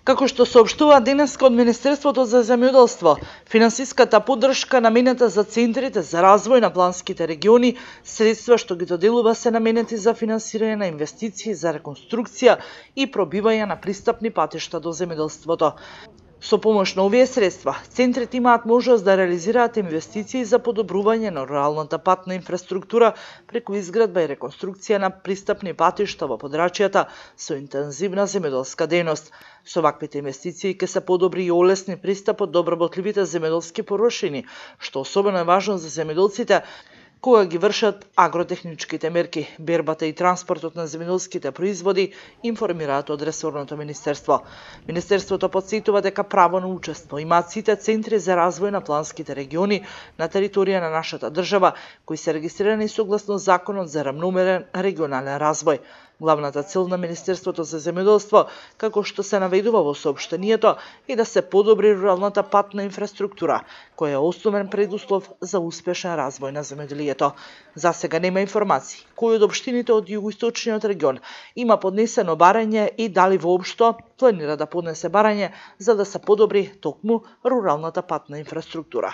Како што соопштува денеска од Министерството за земјоделство, финансиската поддршка наменета за центрите за развој на планските региони, средства што ги доделува се наменети за финансирање на инвестиции за реконструкција и пробивање на пристапни патишта до земјоделството. Со помош на овие средства, центрите имаат можност да реализираат инвестиции за подобрување на руралната патна инфраструктура преку изградба и реконструкција на пристапни патишта во подрачјата со интензивна земјоделска дејност. Со ваквите инвестиции ќе се подобри и олесни пристапот до обработливите земјоделски порушини, што особено е важно за земјоделците кога ги вршат агротехничките мерки, бербата и транспортот на земјоделските производи, информираат од ресорното министерство. Министерството потсетува дека право на учество имаат сите центри за развој на планските региони на територија на нашата држава, кои се регистрирани согласно Законот за рамномерен регионален развој. Главната цел на Министерството за земјоделство, како што се наведува во соопштението, е да се подобри руралната патна инфраструктура, која е основен предуслов за успешен развој на земјоделието. За сега нема информации кои од општините од југоисточниот регион има поднесено барање и дали воопшто планира да поднесе барање за да се подобри токму руралната патна инфраструктура.